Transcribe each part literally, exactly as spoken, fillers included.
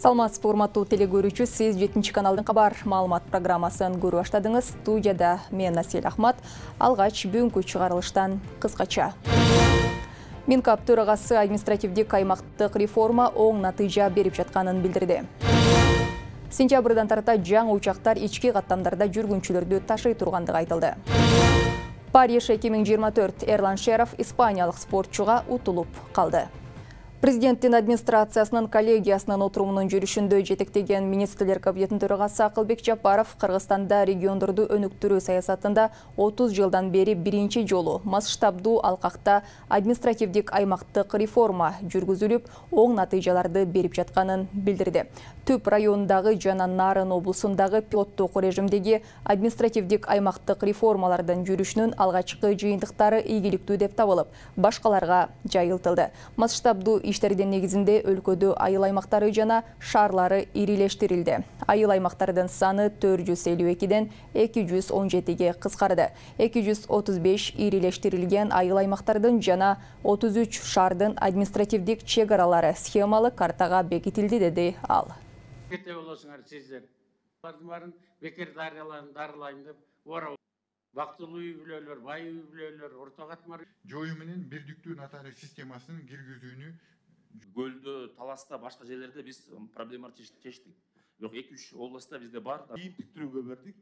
Саламатсыз урматтуу телекөрүүчү, сиз жетинчи каналдын кабар маалымат программасын көрүп баштадыңыз. Студияда мен Асель Ахмат. Алгач бүгүнкү чыгарылыштан кыскача. Минкап төрагасы административдик аймактык реформа оң натыйжа берип жатканын билдирди. Сентябрдан тарта жаңы учактар ички каттамдарда жүргүнчүлөрдү ташый тургандыгы айтылды. Париж эки миң жыйырма төрт Эрлан Шеров испаниялык спортчуга утулуп калды. Президенттин администрациясынын коллегиясынын отурумунун жүрүшүндө жетектеген министрлер кабинетинин төрагасы Акылбек Жапаров Кыргызстанда региондорду өнүктүрүү саясатында отуз жылдан бери биринчи жолу масштабдуу алкакта административдик аймактык реформа жүргүзүлүп, оң натыйжаларды берип жатканын билдирди. Түп районундагы жана Нарын облусундагы пилоттук режимдеги административдик аймактык реформалардын жүрүшүнүн алгачкы жыйынтыктары ийгиликтүү деп табылып, башкаларга жайылтылды. Масштабдуу иштердин негизинде өлкөдө айыл аймактары жана шаарлары ирилештирилди. Айыл аймактардын саны төрт жүз элүү экиден эки жүз он жетиге кыскарды. эки жүз отуз беш ирилештирилген айыл аймактардын жана отуз үч шаардын административдик чек аралары схемалык картага бекитилди, деди ал. Кете болосуңар сиздер. Алардын баарын бекер дарылайын деп орап. Вактылуу үй-бүлөлөр, бай үй-бүлөлөр, орто катмар жою менен бирдиктүү нотариус системасын киргизүүнү Гөлдө, Таласта, башка жерлерде биз проблемалар чечтик. Бирок эки үч областта бизде бар. Кийимтиктирүүгө бердик.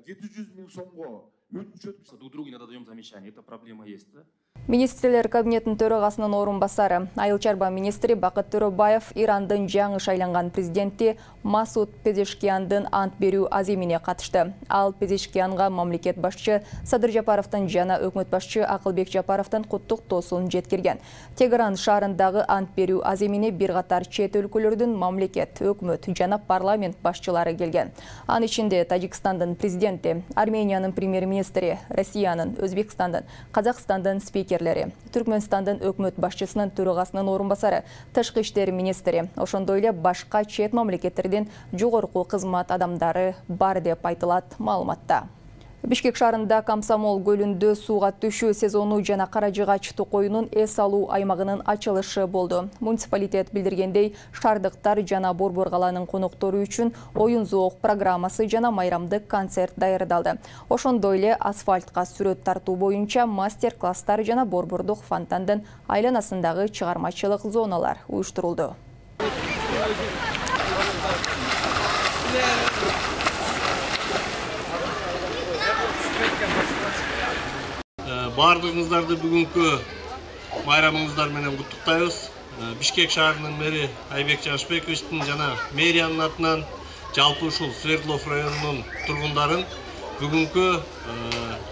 жети жүз миң сомго өтүнүч Друг другу иногда даём замечание. Это проблема есть, да? Министрлер кабинетинин төрагасынын орун басары, айыл чарба министри Бакыт Төрөбаев Ирандын жаңы шайланган президенти Масуд Пезешкияндын ант берүү аземине катышты. Ал Пезешкиянга мамлекет башчы Садыр Жапаровдун жана өкмөт башчы Акылбек Жапаровдун куттуктоосун жеткирген. Тегеран шаарындагы ант берүү аземине бир катар чет өлкөлөрдүн мамлекет, өкмөт жана парламент башчылары келген. Анын ичинде Тажикстандын президенти, Армениянын премьер-министри, Россиянын, Өзбекстандын, Казакстандын спикер Түркмөнстандын өкмөт башчысынын төрагасынын орун басары, тышкы иштер министри, ошондой эле башка чет мамлекеттердин жогорку кызмат адамдары бар деп айтылат маалыматта. Бишкек шаарында Комсомол көлүндө сууга түшүү сезону жана Каражыгач токоюнун эс алуу аймагынын ачылышы болду. Муниципалитет билдиргендей, шаардыктар жана Борбор калаанын коноктору үчүн оюн зоок программасы жана майрамдык концерт даярдалды. Ошондой эле асфальтка сүрөт тартуу боюнча мастер-класстар жана Борбордук фонтандын айланасындагы чыгармачылык зоналар уюштурулду. Бардыгыңыздарды бүгүнкү майрамыңыздар менен куттуктайбыз. Бишкек шаарынын мэри Айбек Жашпековичтин жана мэриянын атынан жалпы ушул Свердлов районунун тургундарын бүгүнкү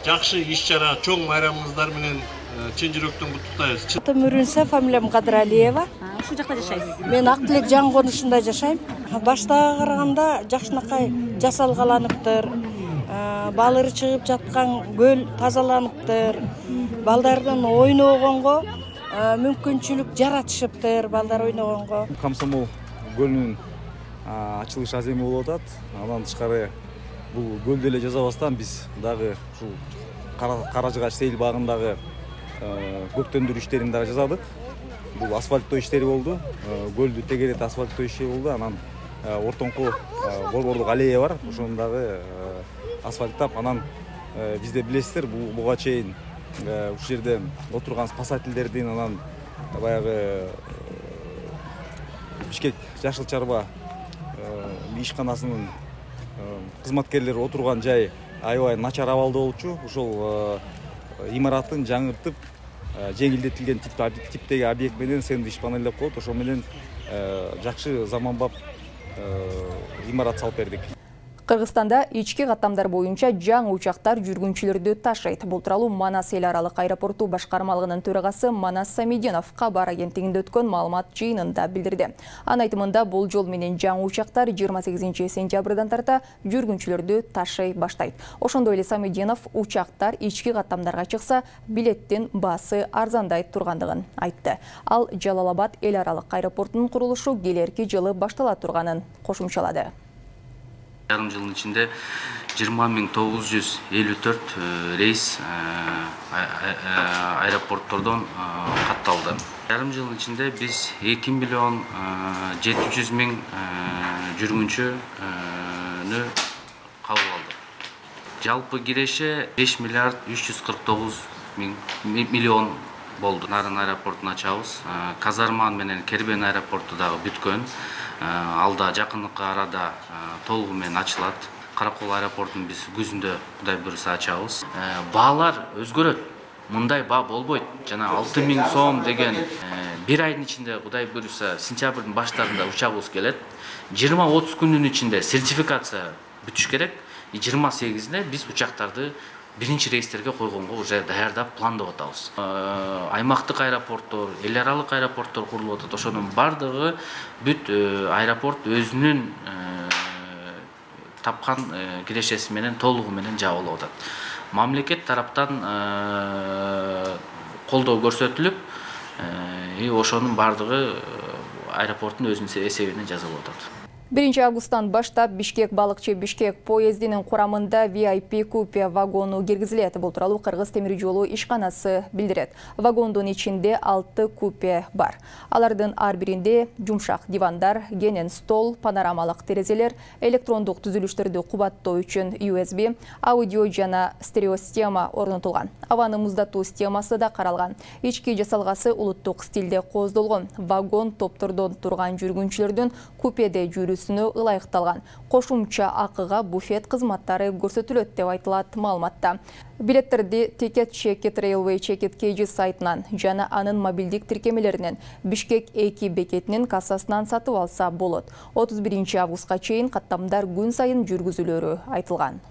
жакшы иш-чара, чоң майрамыңыздар менен чын жүрөктөн куттуктайбыз. Атым Үрүнсө, фамилиям Кадыралиева. Ушул жакта жашайсыз? Мен Ак Тилек жаңы конушунда жашайм. Баштага караганда жакшынакай жасалгаланыптыр. Балыры чыгып жаткан көл тазаланыптыр. Балдардын ойногонго мүмкүнчүлүк жаратышыптыр, балдар ойногонго. Комсомол көлүнүн ачылыш аземи болуп атат. Андан тышкары бул көлдө эле жазабастан биз дагы ушул Каражыгач сейил багындагы көктөндүрүү иштерин дагы жасадык. Бул асфальттоо иштери болду. Көлдү тегерет асфальттоо иши болду. Анан ортоңку Борбордук аллея бар. Ошону дагы асфальттап, анан бизде билесиздер, буга чейин ушул жерде отурган спасательдердин, анан баягы Бишкек Жашыл Чарба ишканасынын кызматкерлери отурган жай аябай начар абалда болчу. Ошол имаратын жаңыртып, жеңилдетилген типтеги объект менен сэндвич панелдеп коюп, ошол менен жакшы заманбап имарат салып бердик. Кыргызстанда ички каттамдар боюнча жаңы учактар жүргүнчүлөрдү ташыйт. Бул тууралуу Манас эл аралык аэропорту башкармалыгынын төрагасы Манас Самидинов кабар агенттигинде өткөн маалымат жыйынында билдирди. Анын айтымында бул жол менен жаңы учактар жыйырма сегизинчи сентябрдан тарта жүргүнчүлөрдү ташый баштайт. Ошондой эле Самидинов учактар ички каттамдарга чыкса, билеттин баасы арзандайт тургандыгын айтты. Ал Жалал-Абад эл аралык аэропортунун курулушу келерки жылы баштала турганын кошумчалады. Yarım жылдын ичинде жыйырма миң тогуз жүз элүү төрт рейс аэропорттордон катталды. Жарым жылдын ичинде биз эки миллион жети жүз миң жүргүнчүнү кабыл алдык. Жалпы киреше беш миллиард үч жүз кырк тогуз миллион болду. Нарын аэропортун ачабыз. Казарман менен Кербен аэропорту дагы бүткөн. Алда жакындыкка арада толугу менен ачылат. Каракол аэропортун биз күзүндө Кудай буйруса ачабыз. Баалар өзгөрөт. Мындай баа болбойт. Жана алты миң сом деген бир айдын ичинде Кудай буйруса сентябрдын баштарында учагыбыз келет. жыйырма отуз күндүн ичинде сертификация бүтүш керек. жыйырма сегизинде биз учактарды биринчи рейстерге койгонго уже даярдап пландап атабыз. Аймактык аэропорттор, эл аралык аэропорттор курулуп атат. Ошонун бардыгы бүт аэропорт өзүнүн тапкан кирешеси менен толугу менен жабылып атат. Мамлекет тараптан колдоо көрсөтүлүп, ошонун бардыгы аэропорттун өзүнүн эсебине жасалып атат. биринчи августтан баштап Бишкек балыкчы Бишкек поездинин курамында ви ай пи купе вагону киргизилет. Бул тууралуу Кыргыз темир жолу ишканасы билдирет. Вагондун ичинде алты купе бар. Алардын ар биринде жумшак дивандар, кенен стол, панорамалык терезелер, электрондук түзүлүштөрдү кубаттоо үчүн ю эс би, аудио жана стерео система орнотулган. Абаны муздатуу системасы да каралган. Ички жасалгасы улуттук стилде кооздолгон. Вагон топтордон турган жүргүнчүлөрдүн купеде жүрүүсү ылайыкталган. Кошумча акыга буфет кызматтары көрсөтүлөт деп айтылат маалыматта. Билеттерди Ticket Check-it Railway Check-it K G сайтынан жана анын мобилдик тиркемелеринен Бишкек эки бекетинин кассасынан сатып алса болот. отуз биринчи августка чейин каттамдар күн сайын жүргүзүлөрү айтылган.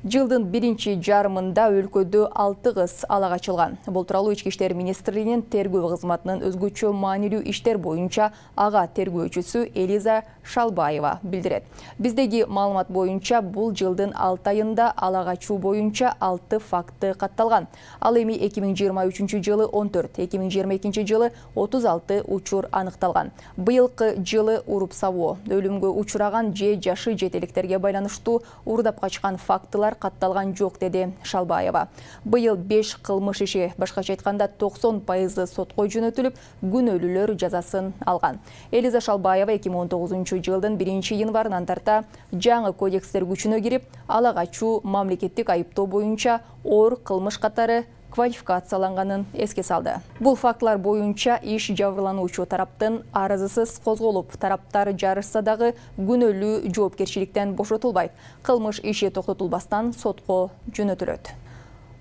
Жылдын биринчи жарымында өлкөдө алты кыз ала качылган. Бул тууралуу Ички иштер министрлигинин тергөө кызматынын өзгөчө маанилүү иштер боюнча ага тергөөчүсү Элиза Шалбаева билдирет. Биздеги маалымат боюнча бул жылдын алты айында ала качуу боюнча алты факты катталган. Ал эми эки миң жыйырма үчүнчү жылы он төрт, эки миң жыйырма экинчи жылы отуз алты учур аныкталган. Быйылкы жылы уруп сабоо, өлүмгө учураган же жашы жетеликтерге байланыштуу уурдап качкан фактылар катталган жок, деди Шалбаева. Быйыл беш кылмыш иши, башкача айтканда токсон пайызы сотко жөнөтүлүп, күнөөлүүлөр жазасын алган. Элиза Шалбаева эки миң он тогузунчу жылдын биринчи январынан тарта жаңы кодекстер күчүнө кирип, ала качуу мамлекеттик айыптоо боюнча оор кылмыш катары квалификацияланганын эске салды. Бул фактылар боюнча иш жабырлануучу тараптын арызысыз козголуп, тараптар жарышса дагы күнөөлүү жоопкерчиликтен бошотулбайт. Кылмыш иши токтотулбастан сотко жөнөтүлөт.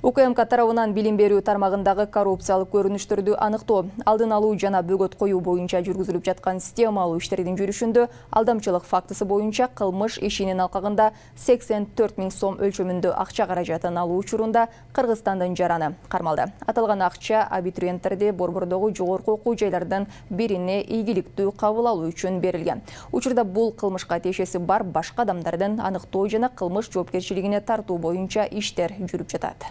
У К М К тарабынан билим берүү тармагындагы коррупциялык көрүнүштөрдү аныктоо, алдын алуу жана бөгөт коюу боюнча жүргүзүлүп жаткан системалуу иштердин жүрүшүндө алдамчылык фактысы боюнча кылмыш ишинин алкагында сексен төрт миң сом өлчөмүндө акча каражатын алуу учурунда Кыргызстандын жараны кармалды. Аталган акча абитуриенттерди Борбордогу жогорку окуу жайлардын бирине ийгиликтүү кабыл алуу үчүн берилген. Учурда бул кылмышка тиешеси бар башка адамдардын аныктоо жана кылмыш жоопкерчилигине тартуу боюнча иштер жүрүп жатат.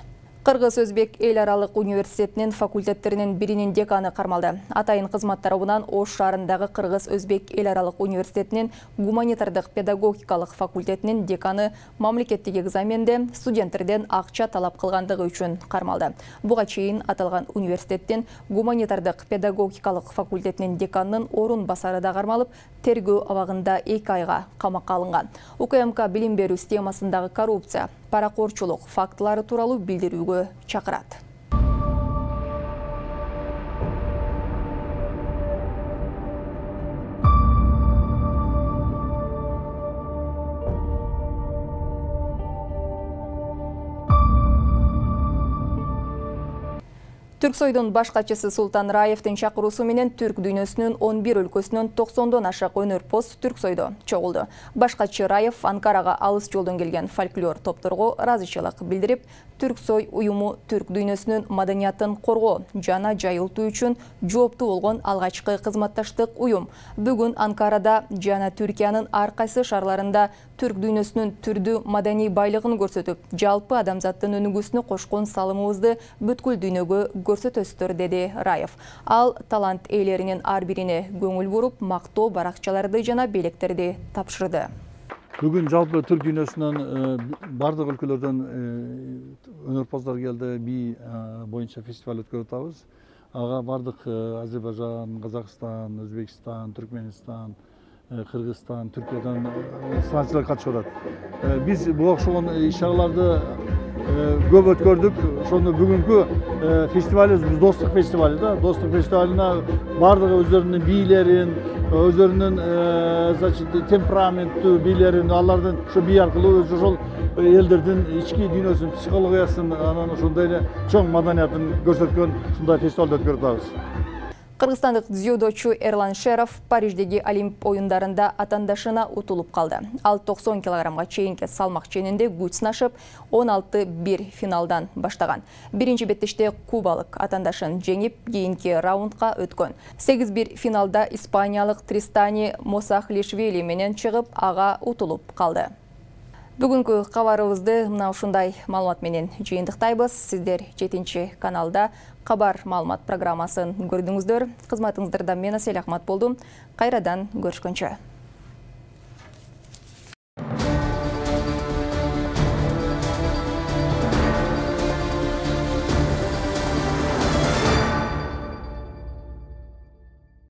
Кыргыз-Өзбек эл аралык университетинин факультеттеринин биринин деканы кармалды. Атайын кызмат тарабынан Ош шаарындагы Кыргыз-Өзбек эл аралык университетинин гуманитардык педагогикалык факультетинин деканы мамлекеттик экзаменде студенттерден акча талап кылгандыгы үчүн кармалды. Буга чейин аталган университеттин гуманитардык педагогикалык факультетинин деканынын орун басары да кармалып, тергөө абагында эки айга камакка алынган. У К М К билим берүү системасындагы коррупция, паракорчулук фактылары тууралуу билдирүүгө чакырат. Түрксойдун баш катчысы Султан Раевдин чакыруусу менен түрк дүйнөсүнүн он бир өлкөсүнөн токсондон ашык өнөрпоз Түрксойдо чогулду. Баш катчы Раев Анкарага алыс жолдон келген фольклор топторго ыраазычылык билдирип, Түрксой уюму түрк дүйнөсүнүн маданиятын коргоо жана жайылтуу үчүн жооптуу болгон алгачкы кызматташтык уюм. Бүгүн Анкарада жана Түркиянын ар кайсы шаарларында түрк дүйнөсүнүн түрдүү маданий байлыгын көрсөтүп, жалпы адамзаттын өнүгүүсүнө кошкон салымыбызды бүткүл дүйнөгө көрсөтөсүздөр, деди Раев. Ал талант ээлеринин ар бирине көңүл буруп, мактоо баракчаларды жана белектерди тапшырды. Бүгүн жалпы түрк дүйнөсүнөн бардык өлкөлөрдөн өнөрпоздор келди, би боюнча фестиваль өткөрүп атабыз. Ага бардык Азербайжан, Казакстан, Өзбекстан, Түркменистан, Кыргызстан, Түркиядан санатчылар катышып атат. Биз бул окшогон иш-чараларды көп өткөрдүк. Ошондо бүгүнкү фестивалыбыз достук фестивалы да. Достук фестивалына бардыгы өздөрүнүн бийлерин, өздөрүнүн значит темпераменттүү бийлерин, алардын ошо бий аркылуу өзү ошол элдердин ички дүйнөсүн, психологиясын, анан ошондой эле чоң маданиятын көрсөткөн ушундай фестивалды өткөрүп атабыз. Кыргызстандык дзюдочу Эрлан Шеров Париждеги Олимп оюндарында атандашына утулуп калды. Ал токсон килограммга чейинки салмак ченинде күч сынашып, он алты бир финалдан баштаган. Биринчи беттеште кубалык атандашын жеңип, кийинки раундга өткөн. сегиз бир финалда испаниялык Тристани Мосахлишвили менен чыгып, ага утулуп калды. Бүгүнкү кабарыбызды мына ушундай маалымат менен жыйынтыктайбыз. Сиздер жетинчи каналда Кабар маалымат программасын көрдүңүздөр. Кызматыңыздарда мен Асель Ахмат болдум. Кайрадан көрүшкөнчө.